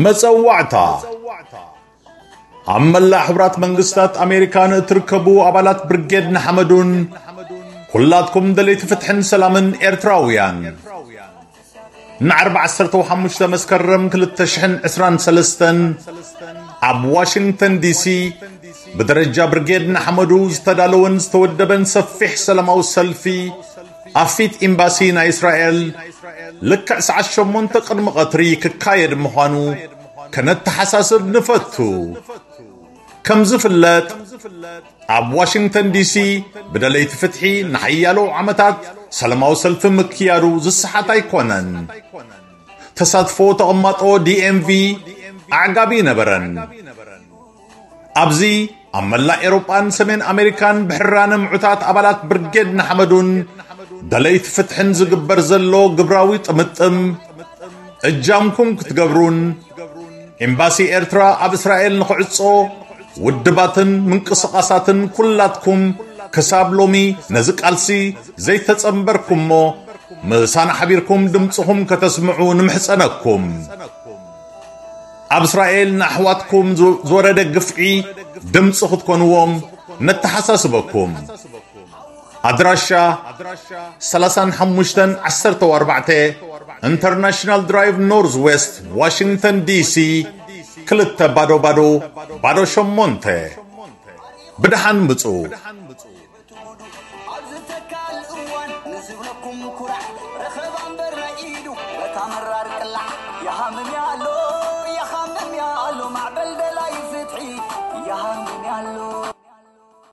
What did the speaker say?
መጸዋዕታ። ኣብ መላእ ሕቡራት መንግስታት ኣሜሪካ ንእትርከቡ ኣባላት ብርጌድ ንሓመዱን ኩላትኩም ደለይቲ ፍትሕን ሰላምን ኤርትራውያን፣ ንዓርቢ ዓሰርተ ሓሙሽተ መስከረም ክልተ ሽሕን ዕስራን ሰለስተን ኣብ ዋሽንግተን ዲሲ ብደረጃ ብርጌድ ንሓመዱ ዝተዳለወን ዝተወደበን ሰፊሕ ሰላማዊ ሰልፊ ኣብ ፊት ኤምባሲ ናይ እስራኤል ልክዕ ሰዓት ሸሞንተ ቅድሚ ቀትሪ ክካየድ ምዃኑ ከነተሓሳስብ ንፈቱ። ከም ዝፍለጥ፣ ኣብ ዋሽንግተን ዲሲ ብደለይቲ ፍትሒ ንሓያሎ ዓመታት ሰላማዊ ሰልፊ ምክያዱ ዝሰሓት ኣይኮነን። ተሳትፎ ተቐማጦ ዲኤምቪ ኣዕጋቢ ነበረን። ኣብዚ ኣብ መላእ ኤውሮጳን ሰሜን ኣሜሪካን ብሕራነ ምዑታት ኣባላት ብርጌድ ንሓመዱን ደለይቲ ፍትሕን ዝግበር ዘሎ ግብራዊ ጥምጥም እጃምኩም ክትገብሩን ኤምባሲ ኤርትራ ኣብ እስራኤል ንኽዕጾ ውድባትን ምንቅስቓሳትን ኩላትኩም ክሳብ ሎሚ ነዚ ቃልሲ ዘይተጸንበርኩሞ ምሳና ሓቢርኩም ድምጽኹም ከተስምዑ ንምሕጸነኩም። ኣብ እስራኤል ንኣሕዋትኩም ዝ-፣ ዝወረደ ግፍዒ ድምጺ ክትኮንዎም ነተሓሳስበኩም። ኣድራሻ ሰላሳን ሓሙሽተን ዓሰርተ ኣርባዕተ ኢንተርናሽናል ድራይቭ ኖርዝ ዌስት ዋሽንግተን ዲሲ ክልተ ባዶ ባዶ ባዶ ሸሞንተ። ብደሓን ምጹ።